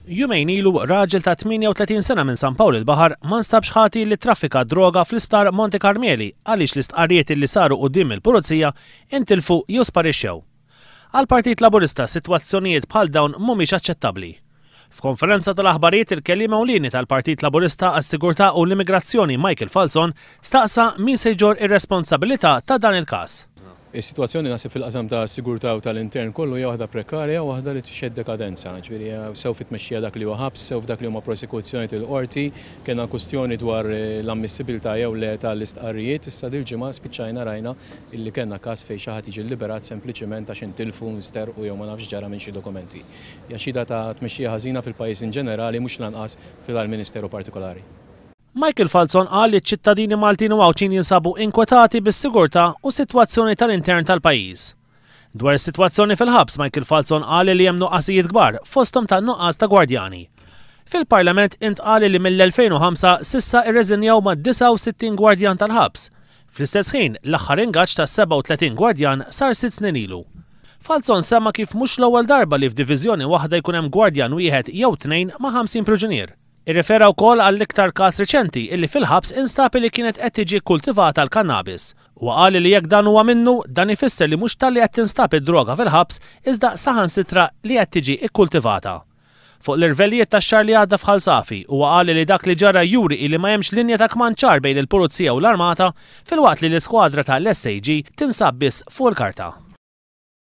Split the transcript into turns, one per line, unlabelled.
Jumejn ilu, raġel ta' 38 sena minn San Pawl il-Baħar ma nstabx ħati li ttraffika d-droga fl-Isptar Monte Carmeli għaliex l-istqarrijiet li saru quddiem il-Pulizija intilfu jew sparixxew. Għall-Partit Laburista sitwazzjonijiet bħal dawn mhumiex aċċettabbli. F'konferenza tal-aħbarijiet il-kelliem ewlieni tal-Partit Laburista għas-Sigurtà u l-Immigrazzjoni Michael Falzon staqsa min se jġorr ir-responsabilità ta' dan il-każ.
Is-sitwazzjoni naħseb fil-qasam ta' sigurtà u tal-intern kollu hija waħda prekarja u waħda li tixhed dekadenza. Ġifieri sew fit-tmexxija dak li huwa ħabs, sew f'dak li huma prosekuzzjonijiet il-qorti, kellna kwistjoni dwar l-ammissibilità jew le tal-istqarrijiet, issa dil-ġimgħa spiċċajna rajna illi kellna każ fejn xi ħadd jiġi lliberat sempliċiment għax intilfu, nsterqu jew ma nafx x'ġara minn xi dokumenti. Hija xhieda ta' tmexxija ħażina fil-pajjiż in ġenerali mhux l-anqas fil-ministeru partikolari.
Michael Falzon qal li ċ-ċittadini Maltin u Għawdxin jinsabu inkwetati bis-sigurtà u s-sitwazzjoni tal-intern tal-pajjiż. Dwar is-sitwazzjoni fil-ħabs, Michael Falzon qal li hemm nuqqasijiet kbar, fosthom ta' nuqqas ta' gwardjani. Fil-Parlament intqal li mill-2005 s'issa rreżinjaw mad-69 gwardjan tal-ħabs. Fl-istess ħin, l-aħħar ingaġġ ta' 37 gwardjan sar sitt snin ilu. Falzon semma kif mhux l-ewwel darba li f'diviżjoni waħda jkun hemm gwardjan wieħed jew tnejn ma' 50 priġunier. Irrefera wkoll għall-iktar każ riċenti illi fil-ħabs instab illi kienet qed tiġi kkultivata l-kannabis. Huwa qal illi jekk dan huwa minnu, dan ifisser li mhux talli qed tinstab id-droga fil-ħabs iżda saħansitra li qed tiġi kkultivata. Fuq l-irvellijiet tax-xahar li għadda f'Ħal Safi, huwa qal illi dak li ġara juri illi ma hemmx linja ta' kmand ċar bejn il-Pulizija u l-Armata filwaqt li l-iskwadra ta' l-SAG tinsab biss fuq il-karta.